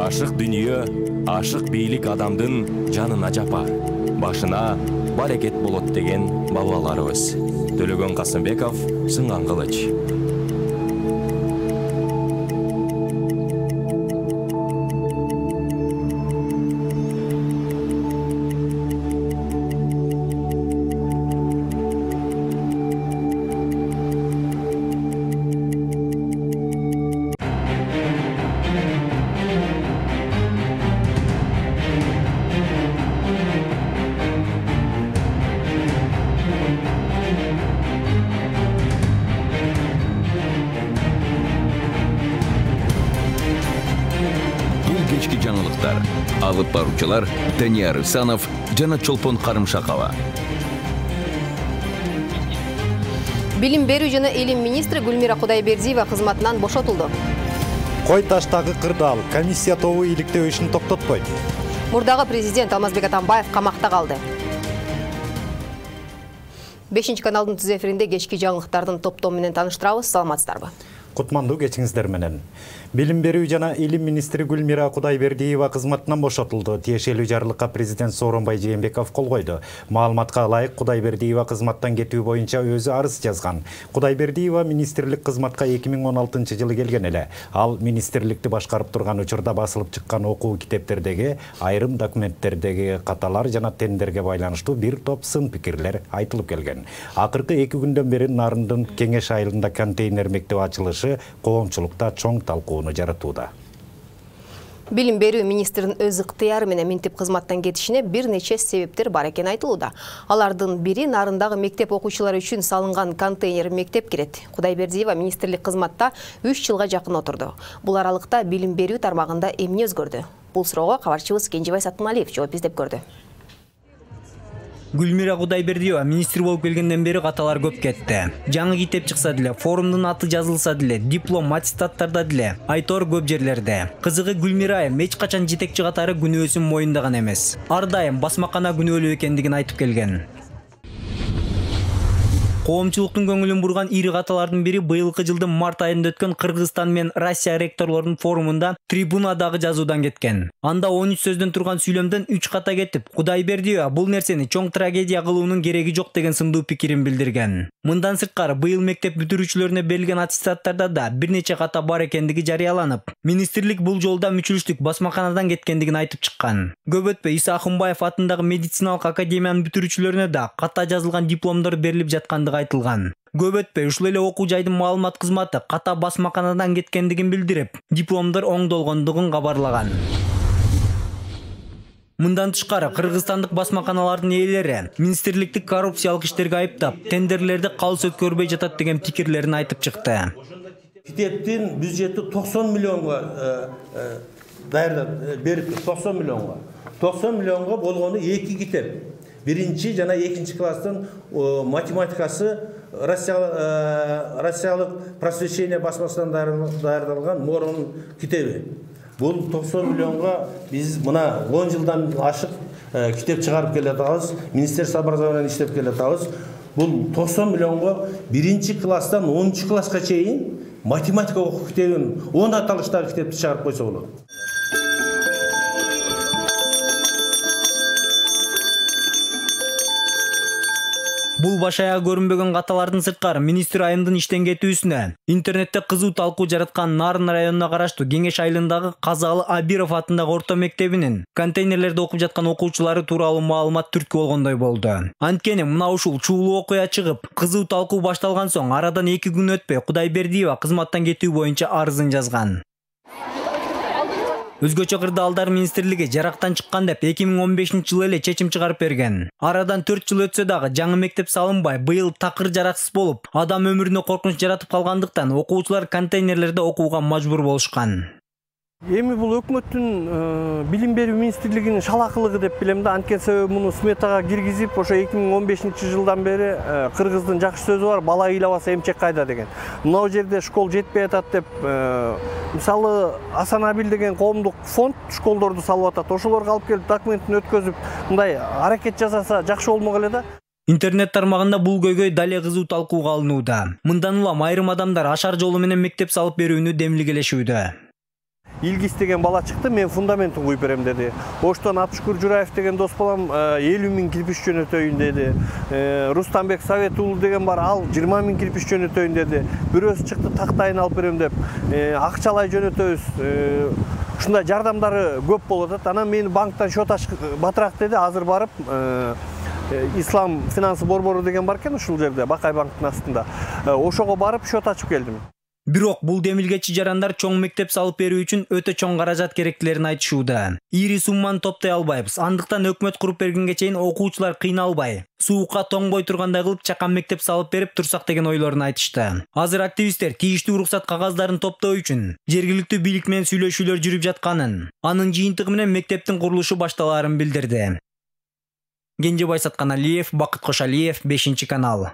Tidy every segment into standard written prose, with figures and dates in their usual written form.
Ашык дүнүйө, ашык бийлик адамдын жанына жапар, башына барекет болот деген бабаларыбыз. Төлөгөн Касымбеков, Сынган кылыч. Кечки жаңылыктар. Алып баруучулар Данияр Исанов жана Чолпон Карымшакова. Билим берүү жана элим министри Гүлмира Кудайбердиева кызматынан бошотулду. Кой таштагы кырдаал комиссия тобу иликтөө ишин токтотпойт. Мурдагы президент Алмазбек Атамбаев камакта калды. 5 каналдын түз эфиринде кечки жаңылыктардын топтому менен тааныштырабыз. Саламатсыздарбы? Кутмандуу кечиңиздер менен. Билим берүү жана элим министри Гүлмира Кудайбердиева кызматынан бошотулду. Тиешелүү жарлыкка президент Сооронбай Жээнбеков кол койду. Маалыматка ылайык Кудайбердиева кызматтан кетүү боюнча өзү арыз жазган. Кудайбердиева министрлик кызматка 2016-жылы келген эле. Ал министрликти башкарып турган учурда басылып чыккан окуу китептердеги айрым документтердеги каталар жана тендерге байланыштуу бир топ сын пикирлер айтылып келген. Акыркы 2 күндөн бери Нарындын Кеңеш айылында контейнер мектеп ачылышы коомчулукта чоң талкуу жаратууда. Билим берүү министринин өз ыктыяры менен минтип кызматтан кетишине бир нече себептер бар экени айтылууда. Алардын бири Нарындагы мектеп окуучулары үчүн салынган контейнер мектеп кирет. Кудайбердиева министрлик кызматта 3 жылга жакын отурду. Бул аралыкта билим берүү тармагында эмне өзгөрдү? Бул суроого кабарчыбыз Кенжебай Сатымалиев жооп издеп көрдү. Гүлмира Кудайбердиева министр болуп келгенден бери каталар көп кетти. Жаңы китеп чыкса деле, форумдун аты жазылса деле, диплом, аттестаттарда деле, айтор көп жерлерде. Кызыгы Гүлмира эч качан жетекчи катары күнөөсүн моюндаган эмес. Ар дайым басмакана күнөөлүү экендигин айтып келген. Коомчулуктун көңүлүн бурган ири каталардын бири быйылкы жылдын март айында өткөн Кыргызстан менен Россия ректорлорунун форумунда трибунадагы жазуудан кеткен. Анда 13 сөздөн турган сүйлөмдөн 3 ката кетип, Кудайбердиева бул нерсени чоң трагедия кылуунун кереги жок деген сындуу пикирин билдирген. Мындан сырткары быйыл мектеп бүтүрүүчүлөрүнө берилген аттестаттарда да бир нече ката бар экендиги жарыяланып, министрлик бул жолда мүчүлүштүк басмаканадан кеткендигин айтып чыккан. Көп өтпөй Иса Акынбаев атындагы медициналык академиянын бүтүрүүчүлөрүнө да ката жазылган дипломдор берилип жаткандыгы айтылган. Көп өтпөй ушул эле окуу жайдын маалымат кызматы ката басмаканадан кеткендигин билдирип, дипломдор оңдолгондугун кабарлаган. Мындан тышкары кыргызстандык басмаканалардын ээлери министрликти коррупциялык иштерге айыптап, тендерлерди калыс өткөрбөй жатат деген пикирлерин айтып чыкты. Китептин бюджети 90 миллионго берип 90 миллионго. 90 миллионго болгону 2 китеп. Биринчи жана 2 класстын математикасы Россиялык просвещение басмасынан даярдалган Морон китеби. Бул 90 миллионго биз мына 10 жылдан ашык китеп чыгарып келатабыз, Министерство образования иштеп келатабыз. Бул 90 миллионго 1 класстан 10 класска чейин математика окуу китебин 10 аталыштагы китепти чыгарып койсо болот. Бул башая көрүнбөгөн каталардын сырткары министр айымдын иштен кетүүсүнө интернетте кызуу талкуу жараткан Нарын районуна караштуу Кеңеш айылындагы Казалы Абиров атындагы орто мектебинин контейнерлерде окуп жаткан окуучулары тууралуу маалымат түрткү болгондой болду. Анткени мына ушул чуулуу окуя чыгып, кызуу талкуу башталган соң арадан 2 күн өтпөй Кудайбердиева кызматтан кетүү боюнча арызын жазган. Өзгөчө кырдаалдар министрлиги жарактан чыккан деп 2015-жылы эле чечим чыгарып берген. Арадан 4 жыл өтсө дагы жаңы мектеп салынбай, быйыл такыр жараксыз болуп, адам өмүрүнө коркунуч жаратып калгандыктан окуучулар контейнерлерде окууга мажбур болушкан. Эми бул өкмөттүн билим берүү министрлигинин шалакылыгы деп билем да. Анткени себеби муну сметага киргизип, ошо 2015-жылдан бери кыргыздын жакшы сөзү бар, бала ыйлабаса эмчек кайда деген. Мына жерде школ жетпей атат деп, мисалы Асанабил деген коомдук фонд школдорду салып атат. Ошолорго алып келип документин өткөзүп, мындай аракет жасаса жакшы болмок эле да. Интернет тармагында бул көйгөй дале кызуу талкууга алынууда. Мындан улам айрым адамдар ашар жолу менен мектеп салып берүүнү демилгелешүүдө. Илгиз деген бала чыкты, мен фундаментин куюп берем деди. Оштон Абшукур Жураев деген дос балам 50 000 кирпич жөнөтөйүн деди. Рустамбек Совет уулу деген бар, ал 20 000 кирпич жөнөтөйүн деди. Бирөөсү чыкты, тактайын алып берем деп, акчалай жөнөтөбүз. Ушундай жардамдары көп болуп атат. Анан мени банктан счет ач батыраак деди. Азыр барып Ислам финансы борбору деген бар экен ушул жерде, Бакай банктын астында. Ошого барып счет ачып келдим. Бирок бул демилгечи жарандар чоң мектеп салып берүү үчүн өтө чоң каражат керектилерин айтышууда. Ири сумманы топтой албайбыз. Андыктан өкмөт куруп бергенге чейин окуучулар кыйналбай, суукка тоңбой тургандай кылып чакан мектеп салып берип турсак деген ойлорун айтышты. Азыр активисттер тийиштүү уруксат кагаздарын топтоо үчүн жергиликтүү бийлик менен сүйлөшүүлөр жүрүп жатканын, анын жыйынтыгы менен мектептин курулушу башталаарын билдирди. Кенжебай Сатканалиев, Бакыт Кошалиев, 5-канал.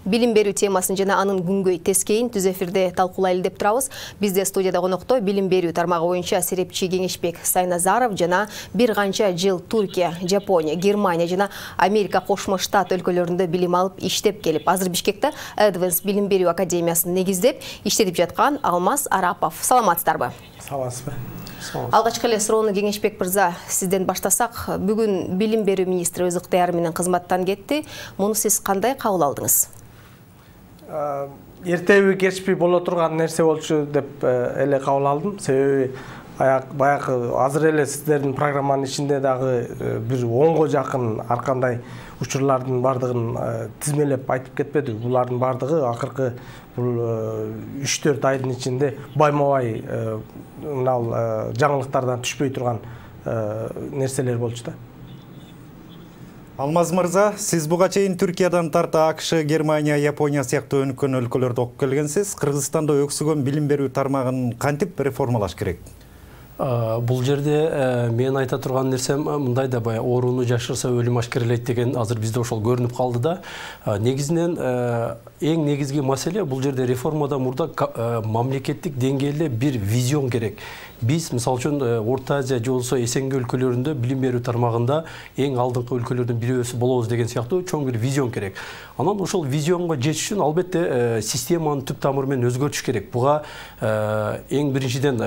Билим берүү темасын жана анын күнгөй тескейин түз эфирде талкуулайлы деп турабыз. Бизде студияда конокто билим берүү тармагы боюнча серепчи Кеңешбек Сайназаров жана бир канча жыл Туркия, Жапония, Германия жана Америка Кошмо Штат өлкөлөрүндө билим алып иштеп келип, азыр Бишкекте Advance билим берүү академиясын негиздеп иштетип жаткан Алмаз Арапов. Саламатсыздарбы? Саламатсызбы? Алгачкы эле суроону Кеңешбек мырза сизден баштасак, бүгүн билим берүү министри өз ыктыяры менен кызматтан кетти. Муну сиз кандай кабыл алдыңыз? Эртеби кечпи боло турган нерсе болчу деп эле кабыл алдым. Себеби баягы азыр эле сиздердин программанын ичинде дагы бир 10го жакын ар кандай учурлардын бардыгын тизмелеп айтып кетпедик. Булардын бардыгы акыркы бул 3-4 айдын ичинде байма-бай мынал жаңылыктардан түшпөй турган нерселер болчу да. Алмаз мырза, сиз буга чейин Түркиядан тарта АКШ, Германия, Япония сыяктуу өнүккөн өлкөлөрдө окуп келгенсиз. Кыргызстанда өксүгөн билим берүү тармагын кантип реформалаш керек? Бул жерде мен айта турган нерсем мындай да, баягы ооруну жашырса өлүм ашкерелейт деген азыр бизде ошол көрүнүп калды да. Негизинен эң негизги маселе бул жерде реформадан мурда мамлекеттик деңгээлде бир визион керек. Биз мисалы үчүн Орто Азия же болсо СНГ өлкөлөрүндө билим берүү тармагында эң алдыңкы өлкөлөрдүн бирөөсү болобуз деген сыяктуу чоң бир визион керек. Анан ошол визионго жетиш үчүн албетте системаны түп тамыры менен өзгөртүш керек. Буга эң биринчиден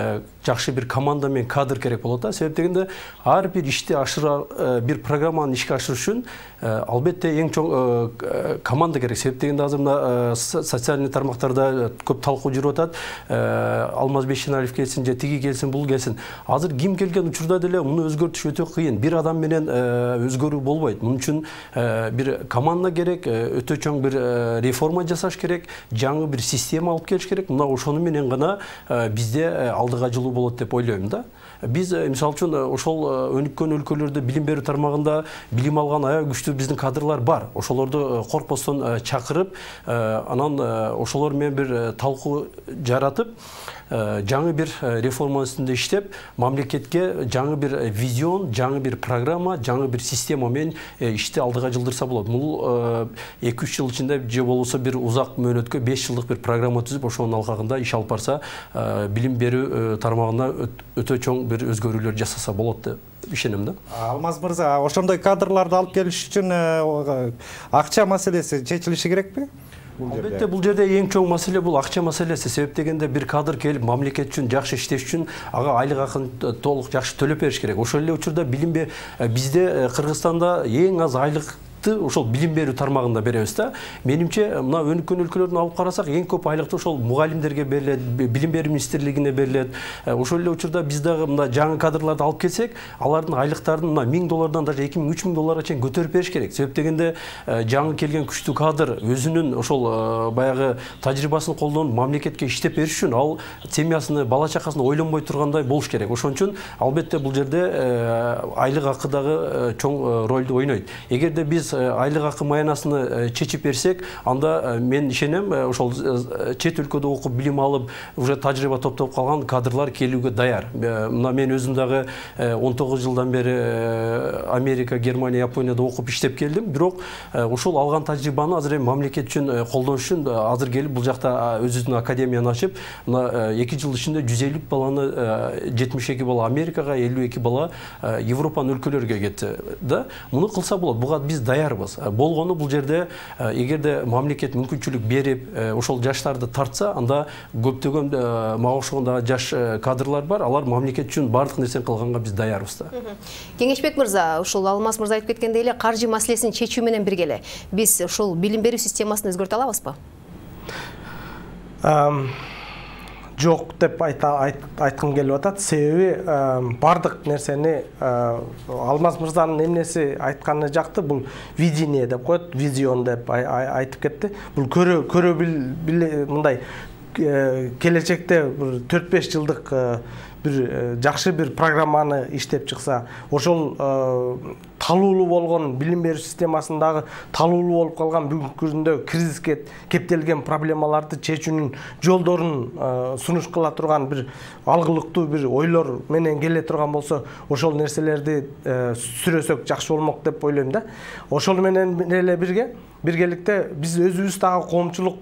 жакшы бир команда мен кадр керек болот да. Себеп дегенде ар бир ишти бир программаны ишке ашырыш үчүн албетте эң чоң команда керек. Себеп дегенде азыр мына социальный тармактарда көп талкуу жүрүп атат. Алмаз Бейшеналиев келсин же тиги келсин, бул келсин. Азыр ким келген учурда деле муну өзгөртүш өтө кыйын. Бир адам менен өзгөрүү болбойт. Мунун үчүн бир команда керек, өтө чоң бир реформа жасаш керек, жаңы бир система алып келиш керек. Мына ошону менен гана бизде алдыга жылуу болот деп ойлойм да. Биз мисалы үчүн ошол өнүккөн өлкөлөрдө билим берүү тармагында билим алган аябай күчтүү биздин кадрлар бар. Ошолорду коркпостон чакырып, анан ошолор менен бир талкуу жаратып, жаңы бир реформа үстүндө иштеп, мамлекетке жаңы бир визион, жаңы бир программа, жаңы бир система менен ишти алдыга жылдырса болот. Бул 2-3 жыл ичинде же болбосо бир узак мөөнөткө 5 жылдык бир программа түзүп, ошонун алкагында иш алып барса, билим берүү тармагында өтө чоң бир өзгөрүүлөр жасаса болот деп ишенем да. Алмаз мырза, ошондой кадрларды алып келиш үчүн акча маселеси чечилиши керекпи? Албетте бул жерде эң чоң маселе бул акча маселеси. Себеп дегенде бир кадр келип мамлекет үчүн жакшы иштеш үчүн ага айлык акын толук жакшы төлөп бериш керек. Ошол эле учурда бизде Кыргызстанда эң аз айлык ошол билим берүү тармагында беребиз да. Менимче мына өнүккөн өлкөлөрдүн алып карасак, эң көп айлыкты ошол мугалимдерге берилет, билим берүү министрлигине берилет. Ошол эле учурда биз дагы мына жаңы кадрларды алып келсек, алардын айлыктарын мына $1000 даже $2000-3000 чейин көтөрүп бериш керек. Себеп дегенде жаңы келген күчтүү кадр өзүнүн ошол баягы тажрыйбасын колдонуп мамлекетке иштеп бериш үчүн ал семьясыны, бала чакасын ойлонбой тургандай болуш керек. Ошон үчүн албетте бул жерде айлык акы дагы чоң ролду ойнойт. Эгерде биз айлык акы маянасыны чечип берсек, анда мен ишенем, ошол чет өлкөдө окуп билим алып, уже тажрыйба топтоп калган кадрлар келүүгө даяр. Мына мен өзүм дагы 19 жылдан бери Америка, Германия, Японияда окуп иштеп келдим. Бирок ошол алган тажрыйбаны азыр мамлекет үчүн колдонуш үчүн азыр келип бул жакта өзүнүн академияны ачып, мына 2 жыл ичинде 150 баланы 72 бала Америкага, 52 бала Европанын өлкөлөрүгө кетти да. Муну кылса болот. Буга биз даярбыз. Болгону бул жерде эгерде мамлекет мүмкүнчүлүк берип, ошол жаштарды тартса, анда көптөгөн мага ошондо жаш кадрлар бар, алар мамлекет үчүн бардык нерсени кылганга биз даярбыз да. Кеңешбек мырза, ушул Алмаз мырза айтып кеткендей эле каржы маселесин чечүү менен бирге эле биз ушул билим берүү системасын өзгөртө алабызбы? Жок деп айткым келип атат. Себеби бардык нерсени Алмаз мырзанын эмнеси айтканы жакты, бул видение деп коет, визион деп айтып кетти. Бул көрө мындай келечекте 4-5 жылдык бир жакшы бир программаны иштеп чыкса, ошол талуулуу болгон билим берүү системасындагы талуулуу болуп калган бүгүнкү күндө кризиске кептелген проблемаларды чечүүнүн жолдорун сунуш кыла турган бир алгылыктуу бир ойлор менен келе турган болсо, ошол нерселерди сүрөсөк жакшы болмок деп ойлойм да. Ошол менен эле биргеликте биз өзүбүз дагы коомчулук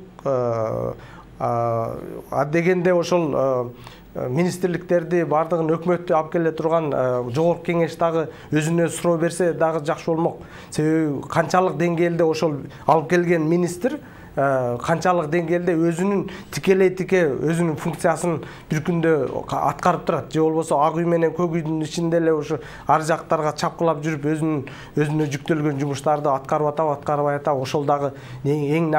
дегенде ошол министрликтерди бардыгын өкмөттү алып келе турган жогорку кеңеш дагы өзүнө суроо берсе дагы жакшы болмок. Себеби канчалык деңгээлде ошол алып келген министр канчалык деңгээлде өзүнүн тикелей өзүнүн функциясын бир күндө аткарып турат, же болбосо ак үй менен көк үйдүн ичинде эле ошо ар жактарга чапкылап жүрүп өзүнө жүктөлгөн жумуштарды аткарып атабай атабы, ошол дагы эң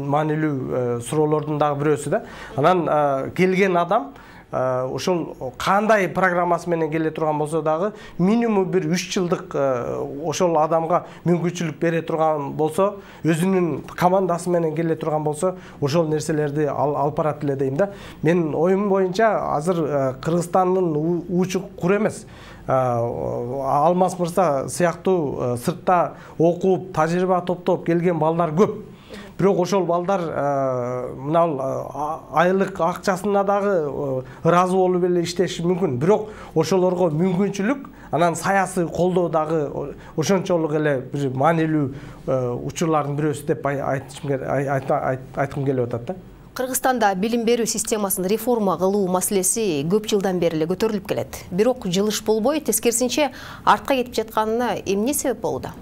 маанилүү суроолордун дагы бирөөсү да. Анан келген адам ошол кандай программасы менен келе турган болсо дагы минимум бир 3 жылдык ошол адамга мүмкүнчүлүк бере турган болсо, өзүнүн командасы менен келе турган болсо, ошол нерселерди алып барат эле дейм да. Мен оюм боюнча азыр Кыргызстандын учу кур эмес. Алмаз мырза сыяктуу сыртта окуп, тажрыйба топтоп келген балдар көп. Бирок ошол балдар мына айлык акчасына дагы ыраазы болуп эле иштеши мүмкүн. Бирок ошолорго мүмкүнчүлүк, анан саясий колдоо дагы ошончолук эле бир маанилүү учурлардын бирөөсү деп айткым келип атат да. Кыргызстанда билим берүү системасын реформа кылуу маселеси көп жылдан бери эле көтөрүлүп келет. Бирок жылыш болбой, тескерисинче артка кетип жатканына эмне себеп болууда?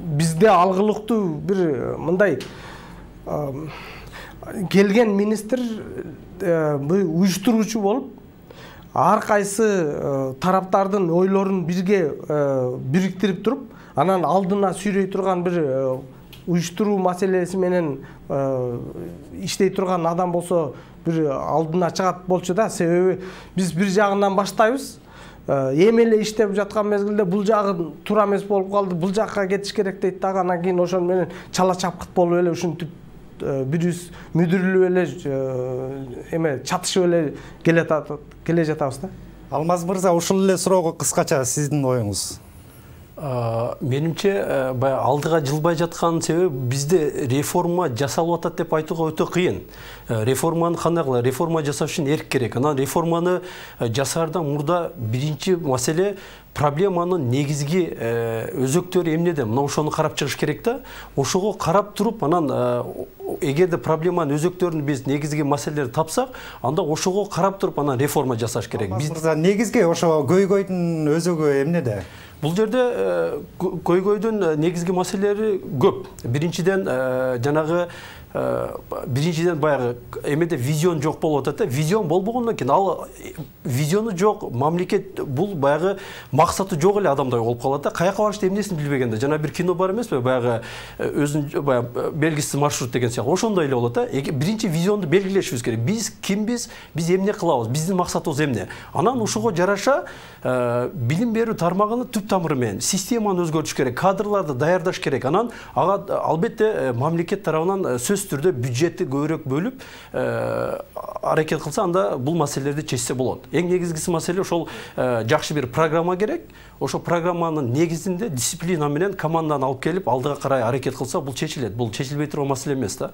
Бизде алгылыктуу бир мындай келген министр уюштуруучу болуп, ар кайсы тараптардын ойлорун бирге бириктирип туруп, анан алдына сүйрөй турган бир уюштуруу маселеси менен иштей турган адам болсо бир алдына чыгат болчу да. Себеби биз бир жагынан баштайбыз, эми эле иштеп жаткан мезгилде бул жагы туура эмес болуп калды, бул жакка кетиш керек дейт дагы, анан кийин ошол менен чала чапкыт болуп эле ушинтип бирибиз мүдүрүлүп эле чатышып эле келе жатабыз да. Алмаз мырза, ушул эле суроого кыскача сиздин оюңуз? Менимче баягы алдыга жылбай жаткан себеби бизде реформа жасалып атат деп айтууга өтө кыйын. Реформаны кандай кылалы? Реформа жасаш үчүн эрк керек. Анан реформаны жасаардан мурда биринчи маселе проблеманын негизги өзөктөрү эмнеде? Мына ошону карап чыгыш керек да. Ошого карап туруп, анан эгерде проблеманын өзөктөрүн биз негизги маселелерди тапсак, анда ошого карап туруп анан реформа жасаш керек. Биз негизги ошо көйгөйдүн өзөгү эмнеде? Бул жерде көйгөйдүн негизги маселелери көп. Биринчиден баягы эмеде визион жок болуп атат да. Визион болбогондон кийин ал визиону жок, мамлекет бул баягы максаты жок эле адамдай болуп калат да. Каяка барышты эмнесин билбегенде. Жана бир кино бар эмеспи? Баягы өзүнүн баягы белгисиз маршрут деген сыяктуу. Ошондой эле болот да. Биринчи визионду белгилешибиз керек. Биз кимбиз? Биз эмне кылабыз? Биздин максатыбыз эмне? Анан ушуга жараша билим берүү тармагыны түп тамыры менен системаны өзгөртүш керек, кадрларды даярдаш керек. Анан ага албетте мамлекет тарабынан сөзсүз түрдө бюджетти көбүрөөк бөлүп аракет кылса, анда бул маселелерди чечсе болот. Эң негизгиси маселе ошол жакшы бир программа керек. Ошол программанын негизинде дисциплина менен команданы алып келип алдыга карай аракет кылса, бул чечилет. Бул чечилбей турган маселе эмес да.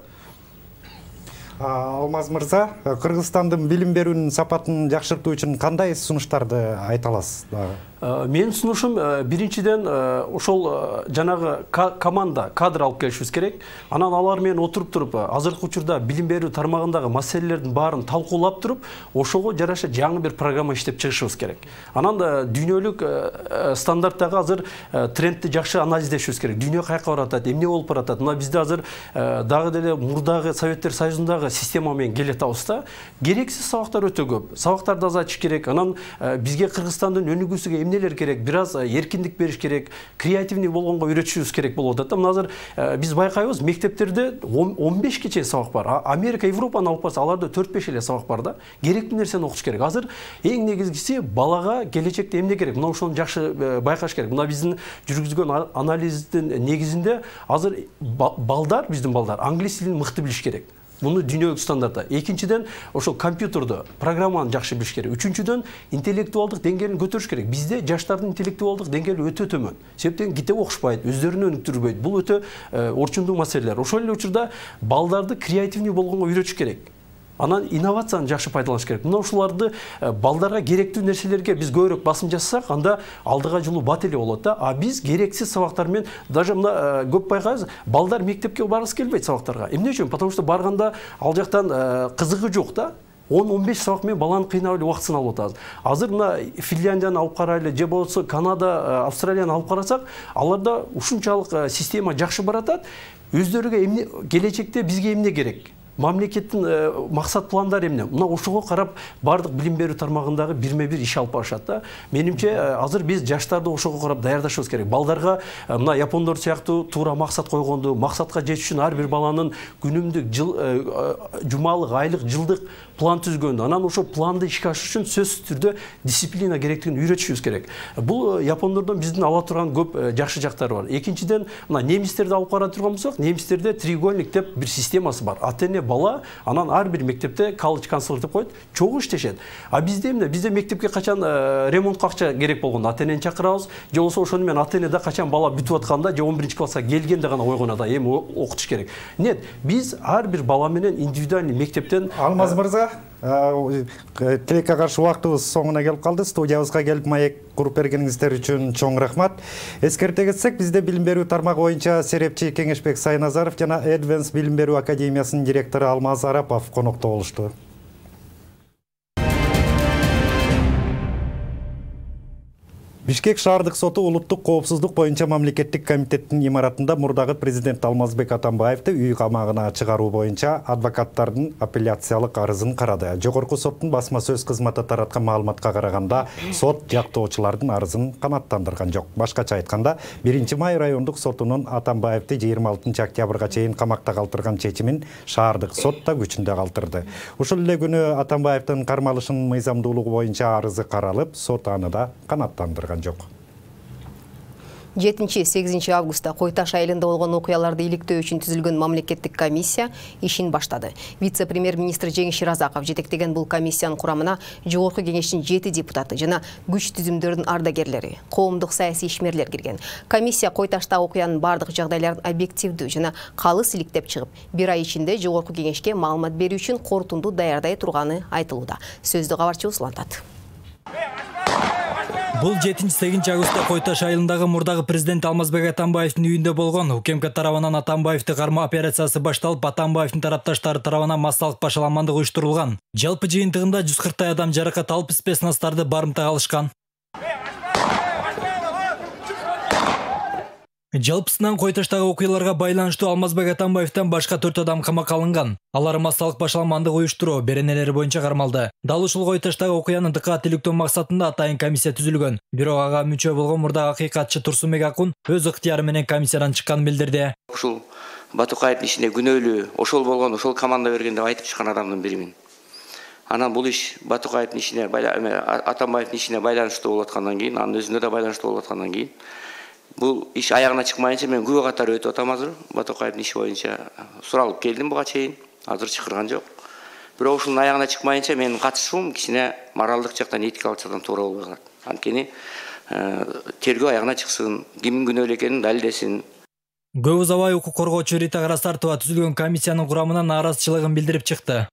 Алмаз мырза, Кыргызстандын билим берүүнүн сапатын жакшыртуу үчүн кандай сунуштарды айта аласыз? Менин сунушум биринчиден ошол жанагы команда кадр алып келишибиз керек. Анан алар менен отуруп туруп, азыркы учурда билим берүү тармагындагы маселелердин баарын талкуулап туруп, ошого жараша жаңы бир программа иштеп чыгышыбыз керек. Анан дүйнөлүк стандарттагы азыр трендти жакшы анализдешибиз керек. Дүйнө каяка баратат, эмне болуп баратат? Мына бизде азыр дагы деле мурдагы Советтер Союзундагы система менен келатабыз да. Керексиз сабактар өтө көп. Сабактарды азайтыш керек. Анан бизге Кыргызстандын өнүгүүсүгө эмнелер керек? Бираз эркиндик бериш керек, креативный болгонго үйрөтүшүбүз керек болуп атат. Мына азыр биз байкайбыз, мектептерде 15 чейин сабак бар. Америка, Европаны алып барса, аларда 4-5 эле сабак бар да. Керектүү нерсени окутуш керек. Азыр эң негизгиси балага келечекте эмне керек? Мына ошону жакшы байкаш керек. Мына биздин жүргүзгөн анализдин негизинде азыр биздин балдар англис тилин мыкты билиш керек. Буну дүйнөлүк стандартта. Экинчиден, ошол компьютерди, программаны жакшы билиш керек. Үчүнчүдөн, интеллектуалдык деңгээлин көтөрүш керек. Бизде жаштардын интеллектуалдык деңгээли өтө төмөн. Себептен китеп окушпайт, өздөрүн өнүктүрбөйт. Бул өтө орчундуу маселелер. Ошол эле учурда балдарды креативный болгонго үйрөтүш керек. Анан инновацияны жакшы пайдаланыш керек. Мына ушуларды балдарга керектүү нерселерге биз көбүрөөк басым жасасак, анда алдыга жылуу бат эле болот да. А биз керексиз сабактар менен, даже мына көп байкайбыз, балдар мектепке баргысы келбейт сабактарга. Эмне үчүн? Потому что барганда ал жактан кызыгы жок да. 10-15 сабак менен баланы кыйнап эле убактысын алып атабыз. Азыр мына Финляндияны алып карайлы, же болбосо Канада, Австралияны алып карасак, аларда ушунчалык система жакшы баратат. Өздөрүгө эмне келечекте бизге эмне керек? Мамлекеттин максат пландары эмне? Мына ошого карап бардык билим берүү тармагындагы бирме-бир иш алып барышат да. Менимче азыр биз жаштарды ошого карап даярдашыбыз керек. Балдарга мына япондор сыяктуу туура максат койгонду, максатка жетиш үчүн ар бир баланын күнүмдүк, жумалык, айлык, жылдык план түзгөндү. Анан ошол планды ишке ашырыш үчүн сөзсүз түрдө дисциплина керектигин үйрөтүшүбүз керек. Бул япондордон биздин ала турган көп жакшы жактары бар. Экинчиден, мына немистерди алып кара турган болсок, немистерде треугольник деп бир системасы бар. Ата-эне бала, анан ар бир мектепте колледж канцлер деп коет, чогуу иштешет. А бизде эмне? Бизде мектепке качан ремонтко акча керек болгондо ата-энени чакырабыз, же болбосо ошону менен ата-эне да качан бала бүтүп атканда, же 11-класска келгенде гана ойгонот, эми окутуш керек. Нет, биз ар бир бала менен индивидуальный мектептен Алмаз мырза, тилекке каршы убактыбыз соңуна келип калды. Студиябызга келип маек куруп бергениңиздер үчүн чоң рахмат. Эскерте кетсек, бизде билим берүү тармагы боюнча серепчи Кеңешбек Сайназаров жана Эдвенс билим берүү академиясынын директору Алмаз Арапов конокто болушту. Бишкек шаардык соту улуттук коопсуздук боюнча мамлекеттик комитеттин имаратында мурдагы президент Алмазбек Атамбаевди үй камагына чыгаруу боюнча адвокаттардын апелляциялык арызын карады. Жогорку соттун басма сөз кызматы тараткан маалыматка караганда, сот жактоочулардын арызын канааттандырган жок. Башкача айтканда, 1-май райондук сотунун Атамбаевди 26 октябрга чейин камакта калтырган чечимин шаардык сот да күчүндө калтырды. Ушул эле күнү Атамбаевдин кармалышынын мыйзамдуулугу боюнча арызы каралып, сот аны да канааттандырган жок. 7-8 августта Кой Таш айылында болгон окуяларды иликтөө үчүн түзүлгөн мамлекеттик комиссия ишин баштады. Вице-премьер-министр Жеңиш Ширазаков жетектеген бул комиссиянын курамына Жогорку кеңештин 7 депутаты жана күч түзүмдөрдүн ардагерлери, коомдук саясий ишмерлер кирген. Комиссия Кой Таштагы окуянын бардык жагдайларын объективдүү жана калыс иликтеп чыгып, 1 ай ичинде Жогорку кеңешке маалымат берүү үчүн корутунду даярдай турганы айтылууда. Сөздү кабарчыбыз улантат. Бул 7-8 августта Кой Таш айылындагы мурдагы президент Алмазбек Атамбаевдин үйүндө болгон. УКМК тарабынан Атамбаевди кармоо операциясы башталып, Атамбаевдин тарапташтары тарабынан массалык башаламандык уюштурулган. Жалпы жыйынтыгында 140 адам жаракат алып, спецнастарды барымтага алышкан. Жалпысынан Кой Таштагы окуяларга байланыштуу Алмазбек Атамбаевден башка 4 адам камакка алынган. Алар массалык башаламандык уюштуруу беренелери боюнча кармалды. Дал ушул Кой Таштагы окуяны дыккат иликтөө максатында атайын комиссия түзүлгөн. Бирок ага мүчө болгон мурдагы акыйкатчы Турсунбек Акун өз ыктыяры менен комиссиядан чыкканын билдирди. Ушул Батукаевдин ишине күнөөлүү ошол болгон, ошол команда берген деп айтып чыккан адамдын биримин. Анан бул иш Батукаевдин ишине, Атамбаевдин ишине байланыштуу болуп аткандан кийин, анын өзүнө да байланыштуу болуп аткандан кийин, бул иш аягына чыкмайынча мен күбө катары өтүп атам азыр. Батукаевдин иши боюнча суралып келдим буга чейин, азыр чакырган жок. Бирок ушунун аягына чыкмайынча менин катышуум кичине моралдык жактан, этикалык жактан туура болбой калат. Анткени тергөө аягына чыксын, кимдин күнөөлүү экенин далилдесин. Көп узабай укук коргоочу Рита Карасартова түзүлгөн комиссиянын курамына нааразычылыгын билдирип чыкты.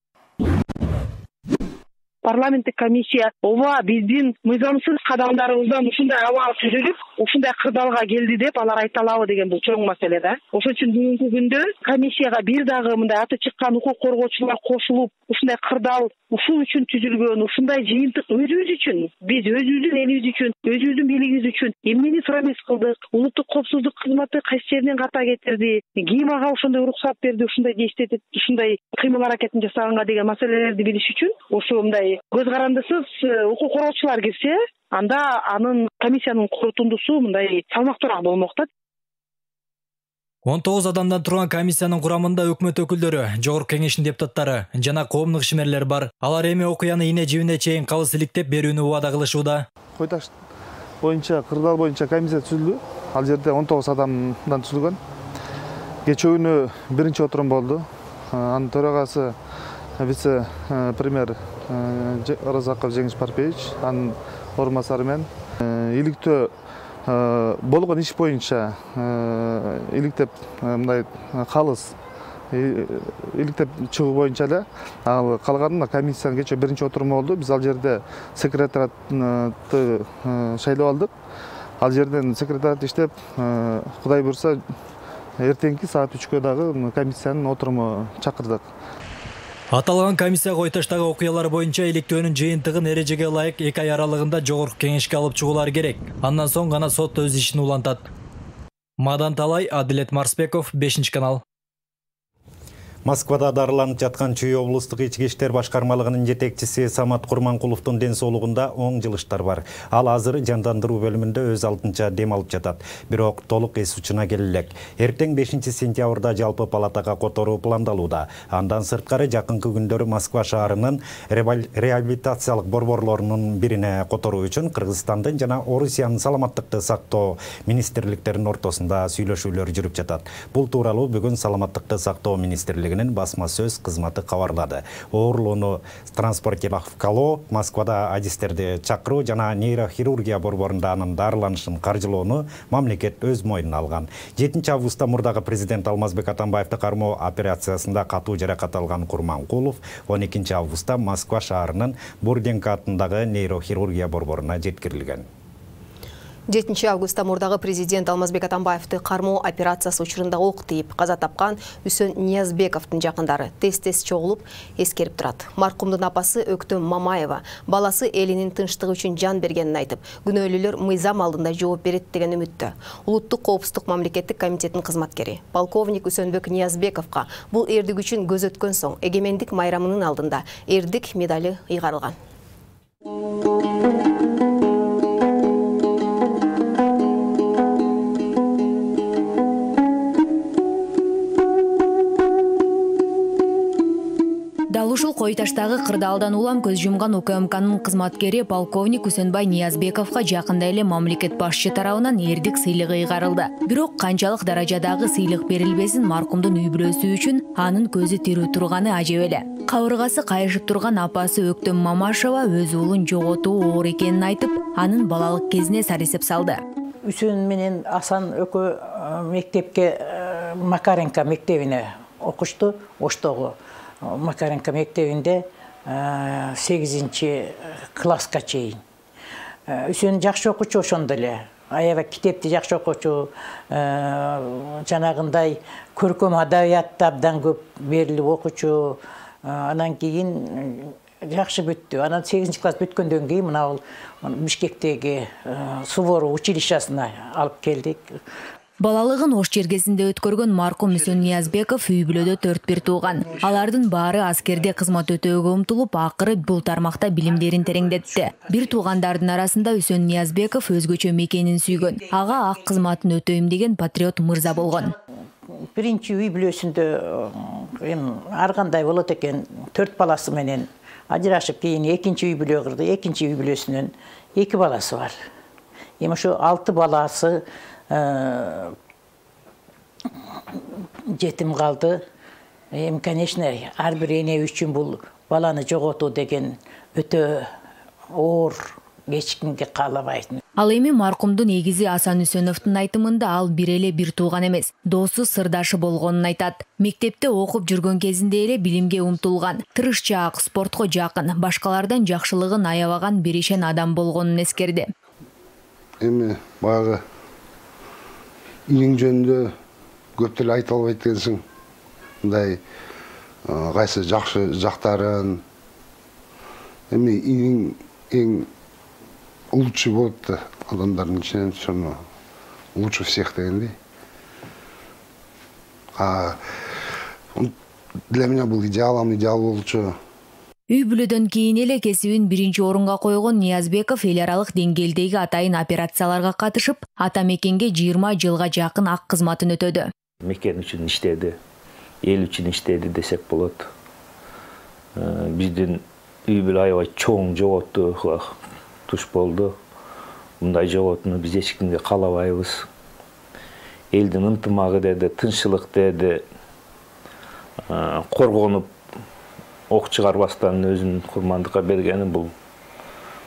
парламенттик комиссия ооба биздин мыйзамсыз кадамдарыбыздан ушундай абал түзүлүп, ушундай кырдаалга келди деп алар айта алабы деген бул чоң маселе да. Ошон үчүн бүгүнкү күндө комиссияга бир дагы мындай аты чыккан укук коргоочулар кошулуп, ушундай кырдаал ушул үчүн түзүлгөн, ушундай жыйынтык өзүбүз үчүн, биз өзүбүздүн элибиз үчүн, өзүбүздүн бийлигибиз үчүн эмнени промис кылдык, улуттук коопсуздук кызматы кайсы жерден ката кетирди, ким ага ошондой уруксат берди, ушундай действиет, ушундай кыймыл аракетин жасаганга деген маселелерди билиш үчүн ошо мындай көз карандысыз укук коргоочулар кирсе, анда анын комиссиянын корутундусу мындай салмактуураак болмок да. 19 адамдан турган комиссиянын курамында өкмөт өкүлдөрү, жогорку кеңештин депутаттары жана коомдук ишмерлер бар. Алар эми окуяны ине жибине чейин кабыз иликтеп берүүнү убада кылышууда. Кой таш боюнча, кырдаал боюнча комиссия түзүлдү. Ал жерде 19 адамдан түзүлгөн. Кечээ күнү биринчи отурум болду. Анын төрагасы вице-премьер Оразаков Жеңиш Парпиевич, анын орун басары менен иликтөө болгон иш боюнча иликтеп мындай калыс иликтеп чыгуу боюнча эле ал калганына комиссиянын кечээ биринчи отуруму болду. Биз ал жерде секретариатты шайлап алдык. Ал жерден секретариат иштеп, Кудай буйрса эртеңки саат 3кө дагы комиссиянын отуруму чакырдык. Аталган комиссия Кой таштагы окуялар боюнча иликтөөнүн жыйынтыгын эрежеге ылайык 2 ай аралыгында жогорку кеңешке алып чыгуулары керек. Андан соң гана сот өз ишин улантат. Мадан Талай, Адилет Марсбеков, 5-канал. Москвада дарыланып жаткан Чүй облустук ички иштер башкармалыгынын жетекчиси Самат Курманкуловдун ден соолугунда оң жылыштар бар. Ал азыр жандандыруу бөлүмүндө өз алдынча дем алып жатат. Бирок толук эс учуна келе элек. Эртең 5-сентябрда жалпы палатага которуу пландалууда. Андан сырткары жакынкы күндөрү Москва шаарынын реабилитациялык борборлорунун бирине которуу үчүн Кыргызстандын жана Орусиянын саламаттыкты сактоо министрликтеринин ортосунда сүйлөшүүлөр жүрүп жатат. Бул тууралуу бүгүн саламаттыкты сактоо министрлиги басма сөз кызматы кабарлады. Оорлоону транспортировкалоо, Москвада адистерди чакыруу жана нейрохирургия борборунда анын дарыланышын каржылоону мамлекет өз мойнуна алган. 7-августта мурдагы президент Алмазбек Атамбаевди кармоо операциясында катуу жаракат алган Курманкулов 12-августта Москва шаарынын Бурденко атындагы нейрохирургия борборуна жеткирилген. 7-августта мурдагы президент Алмазбек Атамбаевди кармоо операциясы учурунда ок тийип каза тапкан Үсөн Ниязбековдун жакындары тез-тез чогулуп эскерип турат. Маркумдун апасы Өктөм Мамаева баласы элинин тынчтыгы үчүн жан бергенин айтып, күнөөлүүлөр мыйзам алдында жооп берет деген үмүттө. Улуттук коопсуздук мамлекеттик комитетинин кызматкери полковник Үсөнбек Ниязбековго бул эрдик үчүн көз өткөн соң эгемендик майрамынын алдында эрдик медали ыйгарылган. Дал ушул Кой таштагы кырдаалдан улам көз жумган УКМКнын кызматкери полковник Үсөнбай Ниязбековго жакында эле мамлекет башчы тарабынан эрдик сыйлыгы ыйгарылды. Бирок канчалык даражадагы сыйлык берилбесин маркумдун үй бүлөсү үчүн анын көзү тирүү турганы ажеп эле. Кабыргасы кайышып турган апасы Өктөм Мамашева өз уулун жоготуу оор экенин айтып, анын балалык кезине саресеп салды. Үсөн менен Асан экөө мектепке Макаренко мектебине окушту. Оштогу Макаренко мектебинде 8-класска чейин. Үсөн жакшы окуучу ошондо эле. Аябай китепти жакшы окуучу, жанагындай көркөм адабиятты абдан көп берилип окуучу. Анан кийин жакшы бүттү. Анан 8-класс бүткөндөн кийин мына Бишкектеги Суворов училищесине алып келдик. Балалыгын Ош чергесинде өткөргөн маркум Үсөн Ниязбеков үй бүлөдө 4 тууган. Алардын баары аскерде кызмат өтөөгө умтулуп, акыры бул тармакта билимдерин тереңдетти. Бир туугандардын арасында Үсөн Ниязбеков өзгөчө мекенин сүйгөн. Ага ак кызматын өтөйм деген патриот мырза болгон. Биринчи үй бүлөсүндө ар кандай болот экен, 4 баласы менен ажырашып, кийин экинчи үй бүлө кырды. Экинчи үй бүлөсүнөн 2 баласы бар. Эми ошо 6 баласы жетим калды. Конечно, ар бир эне үчүн бул баланы жоготуу деген өтө оор кечкинге каалабайт. Ал эми маркумдун эгизи Асан Үсөновдун айтымында ал бир эле бир тууган эмес, досу сырдашы болгонун айтат. Мектепте окуп жүргөн кезинде эле билимге умтулган, тырышчаак, спортко жакын, башкалардан жакшылыгын аябаган беришен адам болгонун эскерди. Эми баягы иң жөнүндө көп деле айта албайт экенсиң. Мындай кайсы жакшы жактарын эми эң лучший болот да адамдардын ичинен ошону лучше всех дегендей. Для меня был идеалом, идеал болчу. Үй бүлөдөн кийин эле кесибин биринчи орунга койгон Ниязбеков эл аралык деңгээлдеги атайын операцияларга катышып, ата мекенге 20 жылга жакын ак кызматын өтөдү. Мекен үчүн иштеди, эл үчүн иштеди десек болот. Биздин үй бүлө аябай чоң жоготу туш болду. Мындай жоготуну биз эч кимге каалабайбыз. Элдин ынтымагы деди, тынччылык деди, коргонуп ок чыгарбастан өзүн курмандыкка бергени бул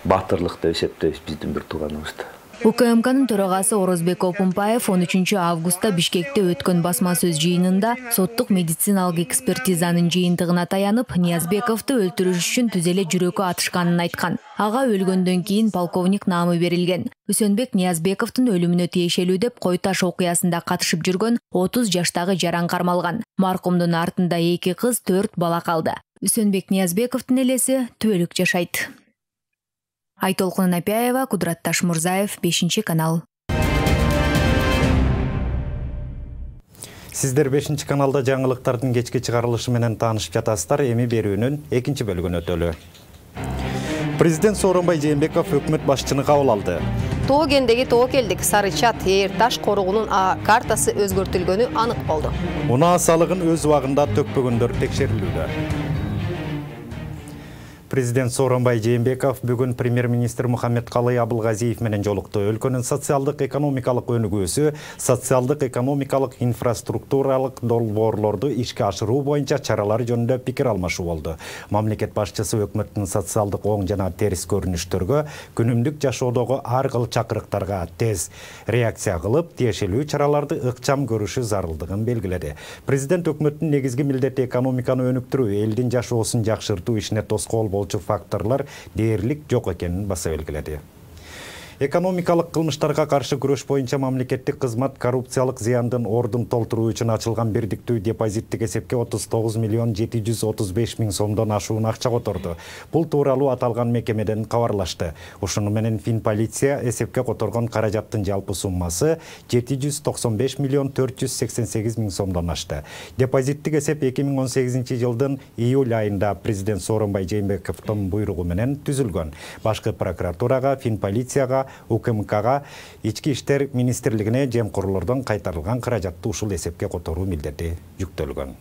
батырлык деп эсептейбиз биздин бир тууганыбызды. УКМКнын төрагасы Орозбек Опунпаев 13 августта Бишкекте өткөн басма сөз жыйынында соттук медициналык экспертизанын жыйынтыгына таянып, Ниязбековду өлтүрүш үчүн түз эле жүрөгү атышканын айткан. Ага өлгөндөн кийин полковник наамы берилген. Үсөнбек Ниязбековдун өлүмүнө тиешелүү деп Кой Таш окуясында катышып жүргөн 30 жаштагы жаран кармалган. Маркумдун артында 2 кыз, 4 бала калды. Үсөнбек Ниязбековдун элеси түбөлүк жашайт. Айтолкун Напяева, Кудрат Ташмурзаев, 5-канал. Сиздер 5-каналда жаңылыктардын кечки чыгарылышы менен таанышып жатасыздар. Эми берүүнүн 2 бөлүгүн өтөлү. Президент Сооронбай Жээнбеков өкмөт башчыны кабыл алды. Тоо кендеги Тоо келдик Сарычат Эйр Таш коругунун картасы өзгөртүлгөнү анык болду. Унаа салыгын өз убагында төкпөгөндөр текшерилүүдө. Президент Сооронбай Жээнбеков бүгүн премьер-министр Мухаммедкалый Абылгазиев менен жолукту. Өлкөнүн социалдык экономикалык өнүгүүсү, социалдык экономикалык инфраструктуралык долбоорлорду ишке ашыруу боюнча чаралар жөнүндө пикир алмашуу болду. Мамлекет башчысы өкмөттүн социалдык оң жана терс көрүнүштөргө, күнүмдүк жашоодогу ар кыл чакырыктарга тез реакция кылып, тиешелүү чараларды ыкчам көрүшү зарылдыгын белгиледи. Президент өкмөттүн негизги милдети экономиканы өнүктүрүү, элдин жашоосун жакшыртуу ишине тоскоол факторлар дээрлик жок экенин баса белгиледи. Экономикалык кылмыштарга каршы күрөш боюнча мамлекеттик кызмат коррупциялык зыяндын ордун толтуруу үчүн ачылган бирдиктүү депозиттик эсепке 39 миллион 735 миң сомдон ашуун акча которду. Бул тууралуу аталган мекемеден кабарлашты. Ушуну менен Финполиция эсепке которгон каражаттын жалпы суммасы 795 миллион 488 миң сомдон ашты. Депозиттик эсеп 2018 жылдын июль айында президент Сооронбай Жээнбековдун буйругу менен түзүлгөн. Башкы прокуратурага, Финполицияга, УКМКга, Ички иштер министрлигине жемкорлордон кайтарылган каражатты ушул эсепке которуу милдети жүктөлгөн.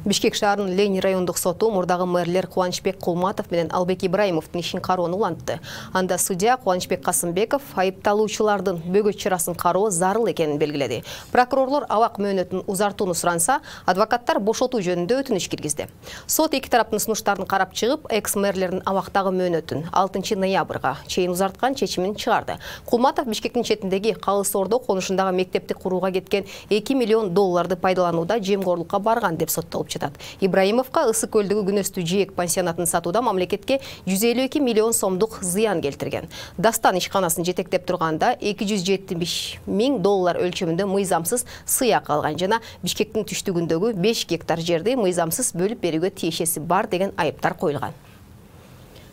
Бишкек шаарынын Ленин райондук соту мурдагы мэрлер Кубанычбек Кулматов менен Албек Ибраимовдун ишин кароону улантты. Анда судья Кубанычбек Касымбеков айыпталуучулардын бөгөт чарасын кароо зарыл экенин белгиледи. Прокурорлор абак мөөнөтүн узартууну суранса, адвокаттар бошотуу жөнүндө өтүнүч киргизди. Сот эки тараптын сунуштарын карап чыгып, экс-мэрлердин абактагы мөөнөтүн 6 ноябрга чейин узарткан чечимин чыгарды. Кулматов Бишкектин четиндеги Калыс Ордо конушундагы мектепти курууга кеткен 2 миллион долларды пайдаланууда жемгорлукка барган деп соттолуп жатат. Ибраимовка Ысык көлдөгү күнөстүү жээк пансионатын сатууда мамлекетке 152 миллион сомдук зыян келтирген. Дастан ишканасын жетектеп турганда 270 миң доллар өлчөмүндө мыйзамсыз сыяк алган жана Бишкектин түштүгүндөгү 5 гектар жерди мыйзамсыз бөлүп берүүгө тиешеси бар деген айыптар коюлган.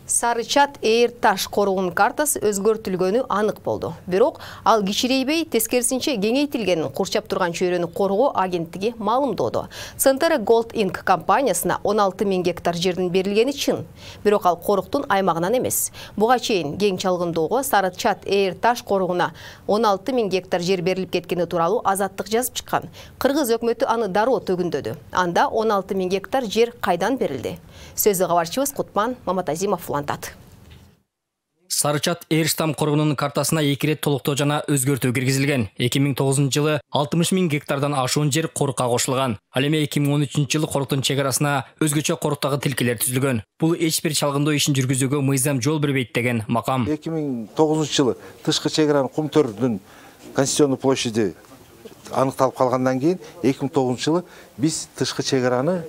Сарычат Эйр Таш коругунун картасы өзгөртүлгөнү анык болду. Бирок ал кичирейбей, тескерисинче кеңейтилгенин курчап турган чөйрөнү коргоо агенттиги маалымдоодо. Центр Gold Inc компаниясына 16 миң гектар жердин берилгени чын. Бирок ал коруктун аймагынан эмес. Буга чейин кең чалгындоого Сарычат Эйр Таш коругуна 16 миң гектар жер берилип кеткени тууралуу Азаттык жазып чыккан. Кыргыз өкмөтү аны дароо төгүндөдү. Анда 16 миң гектар жер кайдан берилди? Сөзү кабарчыбыз Кутман Маматазимов улантат. Сарычат Эрштам коргонунун картасына 2 рет толуктоо жана өзгөртүү киргизилген. 2009-жылы 60 000 гектардан ашуун жер корукка кошулган. Ал эми 2013-жылы коруктун чек арасына өзгөчө коруктагы тилкелер түзүлгөн. Бул эч бир чалгындоо ишин жүргүзүүгө мыйзам жол бербейт деген макам. 2009-жылы тышкы чек-аранын Кумтөрдүн конституционный площади аныкталып калгандан кийин 2009-жылы биз тышкы чек-араны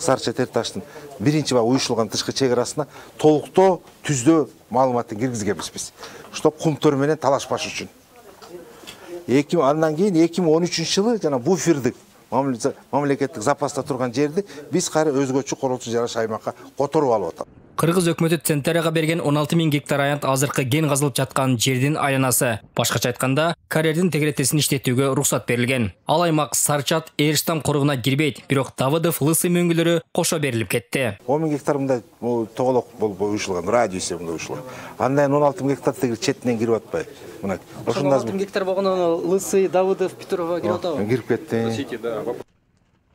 Сарычат Эрташтын биринчи уюшулган тышкы чек-арасына толуктоо түздөө маалыматын киргизгенбиз биз. Ошто Кумтөр менен талашпаш үчүн. Андан кийин 2013-жылы жана буфердик мамлекеттик запаста турган жерди биз кайра өзгөчө коротуу жараш аймакка которуп алып атабыз. Кыргыз өкмөтү Центерияга берген 16 000 гектар аянт азыркы ген казылып жаткан жердин айланасы. Башкача айтканда, карьердин тегеретесин иштетүүгө уруксат берилген. Ал аймак Сарычат Эрштам коргуна кирбейт, бирок Давыдов, Лысы мөңгүлөрү кошо берилип кетти. 10 000 гектар мындай тоголок болуп уюшулган, радиусы мындай уюшулган. Андан 16 000 гектар тегил четинен кирип атпайбы? Мына. 16 000 гектар болгондо Лысы, Давыдов, Петрова кирип атабы? Кирип кетти.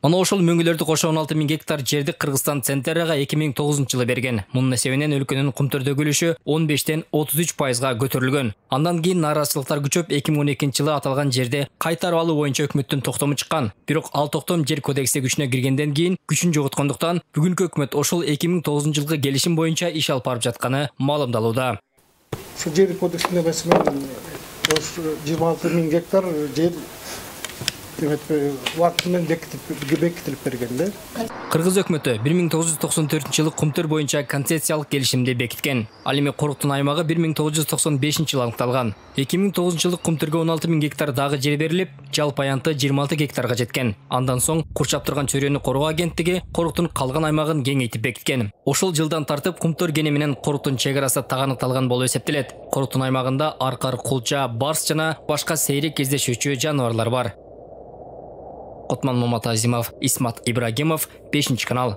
Мына ошол мөңгүлөрдү кошо 16 000 гектар жерди Кыргызстан Центерияга 2009-жылы берген. Мунун эсебинен өлкөнүн Кумтөрдөгү үлүшү 15-33%га көтөрүлгөн. Андан кийин нааразычылыктар күчөп 2012-жылы аталган жерде кайтарып алуу боюнча өкмөттүн токтому чыккан. Бирок ал токтом жер кодекси күчүнө киргенден кийин күчүн жоготкондуктан бүгүнкү өкмөт ошол 2009-жылкы келишим боюнча иш алып барып жатканы маалымдалууда. Ушул жер кодексинде маселен 26 000 гектар жер убакытынан бекитилип берген. Кыргыз өкмөтү 1994-жылы Кумтөр боюнча концессиялык келишимди бекиткен. Ал эми коруктун аймагы 1995-жылы аныкталган. 2009-жылы Кумтөргө 16 000 гектар дагы жер берилип, жалпы аянты 26 гектарга жеткен. Андан соң курчап турган чөйрөнү коргоо агенттиги коруктун калган аймагын кеңейтип бекиткен. Ошол жылдан тартып Кумтөр кени менен коруктун чек арасы таганыкталган болуп эсептелет. Коруктун аймагында аркар, кулча, барс жана башка сейрек кездешүүчү жаныбарлар бар. Отман Маматазимов, Исмат Ибрагимов, 5-канал.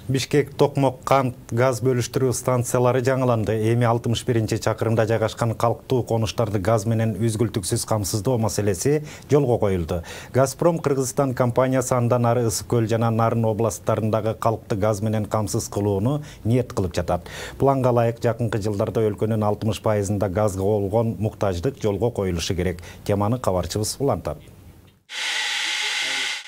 Бишкек токмок кант газ бөлүштүрүү станциялары жаңыланды. Эми 61-чакырымда жайгашкан калктуу конуштарды газ менен үзгүлтүксүз камсыздоо маселеси жолго коюлду. Газпром Кыргызстан компаниясы андан ары Ысык көл жана Нарын областтарындагы калкты газ менен камсыз кылууну ниет кылып жатат. Планга ылайык жакынкы жылдарда өлкөнүн 60%-ында газга болгон муктаждык жолго коюлушу керек. Теманы кабарчыбыз улантат.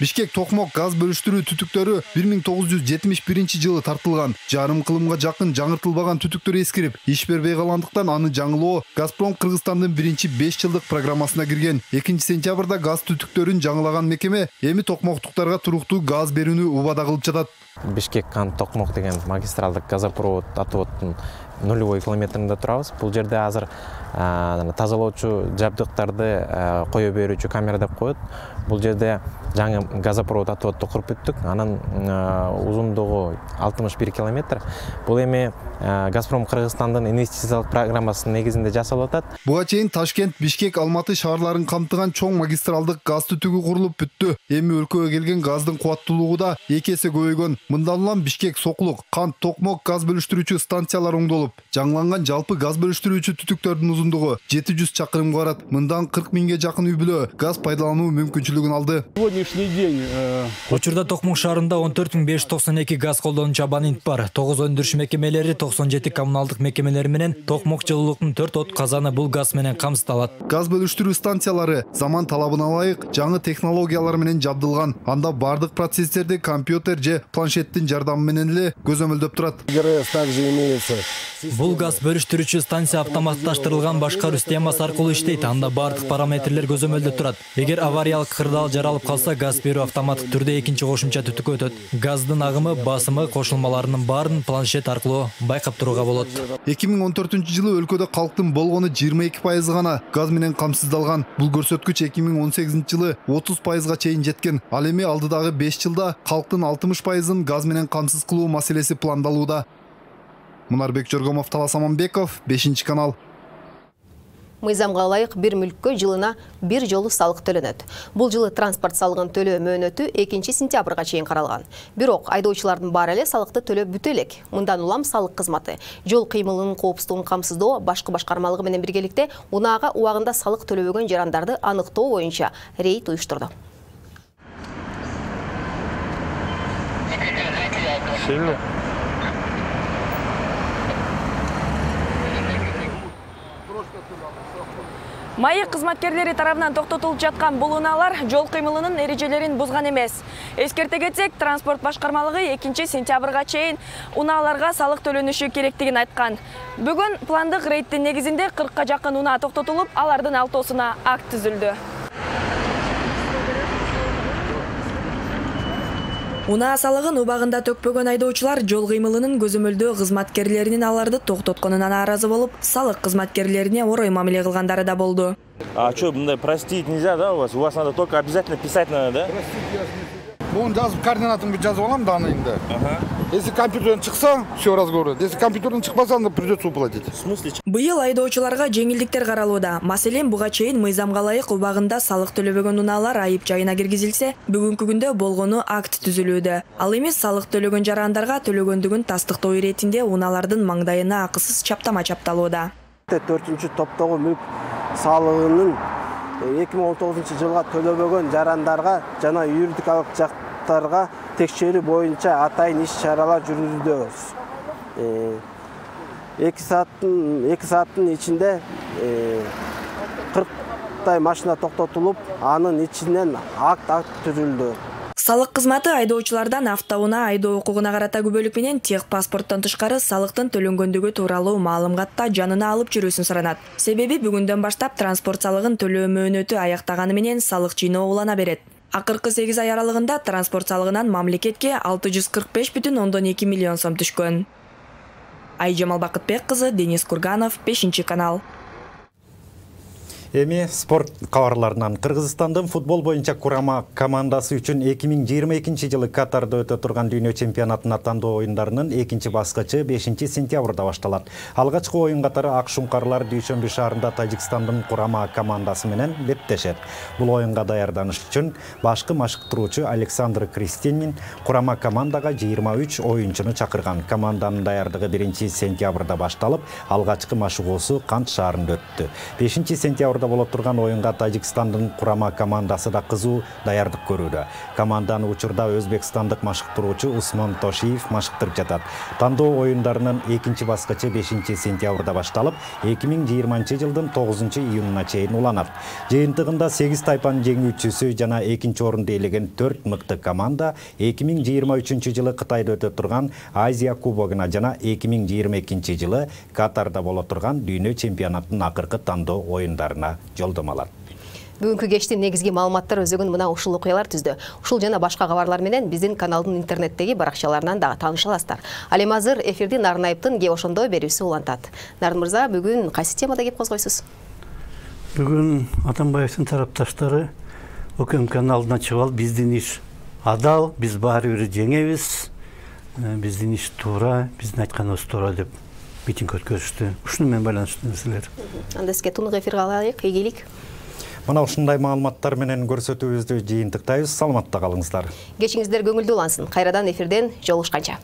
Бишкек токмок газ бөлүштүрүү түтүктөрү 1971-жылы тартылган. Жарым кылымга жакын жаңыртылбаган түтүктөр эскирип, иш бербей калгандыктан аны жаңылоо Газпром Кыргызстандын 5 жылдык программасына кирген. 2-сентябрда газ түтүктөрүн жаңылаган мекеме эми токмоктуктарга туруктуу газ берүүнү убада кылып жатат. Бишкек кант токмок деген магистралдык газопровод атыботтун нулевой километринде турабыз. Бул жерде азыр тазалоочу жабдыктарды кое берүүчү камера деп коет. Бул жерде жаңы газопровод атыботду куруп бүттүк. Анын узундугу 61 километр. Бул эми Газпром Кыргызстандын инвестициялык программасынын негизинде жасалып атат. Буга чейин Ташкент, Бишкек, Алматы шаарларын камтыган чоң магистралдык газ түтүгү курулуп бүттү. Эми өлкөгө келген газдын кубаттуулугу да 2 эсе көбөйгөн. Мындан улам Бишкек, Сокулук, Кант, Токмок газ бөлүштүрүүчү станциялар оңдолуп, жаңыланган жалпы газ бөлүштүрүүчү түтүктөрдүн узундугу 700 чакырымга барат. Мындан 40 000ге жакын үй-бүлө газ пайдалануу мүмкүнчүлүгүн алды. Сегодняшний день Учурда Токмок шаарында 14592 газ колдонуучу абонент бар. 9 өндүрүш мекемелери, 97 коммуналдык мекемелери менен Токмок жылуулуктун 4 от казаны бул газ менен камсыздалат. Газ бөлүштүрүү станциялары заман талабына ылайык жаңы технологиялар менен жабдылган. Анда бардык процесстерди компьютер же планшеттин жардамы менен эле көзөмөлдөп турат. Бул газ бөлүштүрүүчү станция автоматташтырылган башкаруу системасы аркылуу иштейт. Анда бардык параметрлер көзөмөлдө турат. Эгер авариялык кырдаал жаралып калса, газ берүү автоматтык түрдө экинчи кошумча түтүккө өтөт. Газдын агымы, басымы, кошулмаларынын баарын планшет аркылуу байкап турууга болот. 2014-жылы өлкөдө калктын болгону 22% гана газ менен камсыздалган. Бул көрсөткүч 2018-жылы 30%га чейин жеткен. Ал эми алдыдагы 5 жылда калктын 60%-ын газ менен камсыз кылуу маселеси пландалууда. Мунарбек Жоргомов, Талас Аманбеков, 5-канал. Мыйзамга ылайык бир мүлккө жылына бир жолу салык төлөнөт. Бул жылы транспорт салыгын төлөө мөөнөтү 2-сентябрга чейин каралган. Бирок айдоочулардын баары эле салыкты төлөп бүтө элек. Мындан улам салык кызматы жол кыймылынын коопсуздугун камсыздоо башкы башкармалыгы менен биргеликте унаага убагында салык төлөбөгөн жарандарды аныктоо боюнча рейд уюштурду. Майы кызматкерлери тарабынан токтотулуп жаткан бул унаалар жол кыймылынын эрежелерин бузган эмес. Эскерте кетсек, транспорт башкармалыгы 2 сентябрга чейин унааларга салык төлөнүшү керектигин айткан. Бүгүн пландык рейдтин негизинде 40га жакын унаа токтотулуп, алардын 6-сына акт түзүлдү. Унаа салыгын убагында төкпөгөн айдоочулар жол кыймылынын көзөмөлдөө кызматкерлеринин аларды токтотконуна нааразы болуп, салык кызматкерлерине орой мамиле кылгандары да болду. А что, простить нельзя, да, у вас? У вас надо только обязательно писать надо, да? Bunu жазып, координатын жазып алам данныйында. Если компьютерден чыкса, все разговор. Если компьютерден чыкпаса, анда придется уплатить. В смысле? Быйыл айдоочуларга жеңилдиктер каралууда. Маселен, буга чейин мыйзамга ылайык убагында салык төлөбөгөн унаалар айып жайына киргизилсе, бүгүнкү күндө болгону акт түзүлүүдө. Ал эми салык төлөгөн жарандарга төлөгөндүгүн тастыктоо иретинде унаалардын маңдайына акысыз чаптама чапталууда. 4-топтогу мүлк салыгынын 2019 жылга төлөбөгөн жарандарга жана юридикалык жактарга текшерүү боюнча атайын иш-чаралар жүргүзүүдөбүз. 2 сааттын ичинде 40 машина токтотулуп, анын ичинен акт түзүлдү. Салык кызматы айдоочулардан автоунаа айдоо укугуна карата күбөлүк менен тех паспорттон тышкары салыктын төлөнгөндүгү тууралуу маалыматта жанына алып жүрүүсүн суранат. Себеби бүгүндөн баштап транспорт салыгын төлөө мөөнөтү аяктаганы менен салык жыйноо улана берет. Акыркы 8 ай аралыгында транспорт салыгынан мамлекетке 645,2 миллион сом түшкөн. Айжамал Бакытбек кызы, Денис Курганов, 5-канал. Эми спорт кабарларынан Кыргызстандын футбол боюнча курама командасы үчүн 2022 жылы Катарда өтө турган дүйнө чемпионатына тандоо оюндарынын 2 баскычы 5 сентябрда башталат. Алгачкы оюн катары Ак Шуңкарлар Дүйшөмбү шаарында Тажикстандын курама командасы менен беттешет. Бул оюнга даярданыш үчүн башкы машыктыруучу Александр Кристинин курама командага 23 оюнчуну чакырган. Команданын даярдыгы 1 сентябрда башталып, алгачкы машыгуусу Кант шаарында өттү. 5 сентябрда болот турган оюнга Тажикстандын курама командасы да кызуу даярдык көрүүдө. Команданы учурда өзбекстандык машыктыруучу Усман Тошиев машыктырып жатат. Тандоо оюндарынын 2 баскычы 5 сентябрда башталып, 2020 жылдын 9 июнуна чейин уланат. Жыйынтыгында 8 тайпанын жеңүүчүсү жана 2 орунду ээлеген 4 мыкты команда 2023 жылы Кытайда өтө турган Азия кубогуна жана 2022 жылы Катарда болот турган дүйнө чемпионатынын акыркы тандоо оюндарына жолдомалат. Бүгүнкү кештин негизги маалыматтар өзөгүн мына ушул окуялар түздү. Ушул жана башка кабарлар менен биздин каналдын интернеттеги баракчаларынан дагы тааныша аласыздар. Ал эми азыр эфирди Нарын Айыптын кеп ошондо берүүсү улантат. Нарын мырза, бүгүн кайсы темада кеп козгойсуз? Бүгүн Атамбаевдин тарапташтары ОКМ каналына чыгып алып, биздин иш адал, биз баары бир жеңебиз, биздин иш туура, биздин айтканыбыз туура деп митинг өткөрүштү. Ушуну менен байланыштуу нерселер. Анда сизге тунук эфирге алайык, ийгилик. Мына ушундай маалыматтар менен көрсөтүүбүздү жыйынтыктайбыз. Саламатта калыңыздар. Кечиңиздер көңүлдүү улансын. Кайрадан эфирден жолугушканча.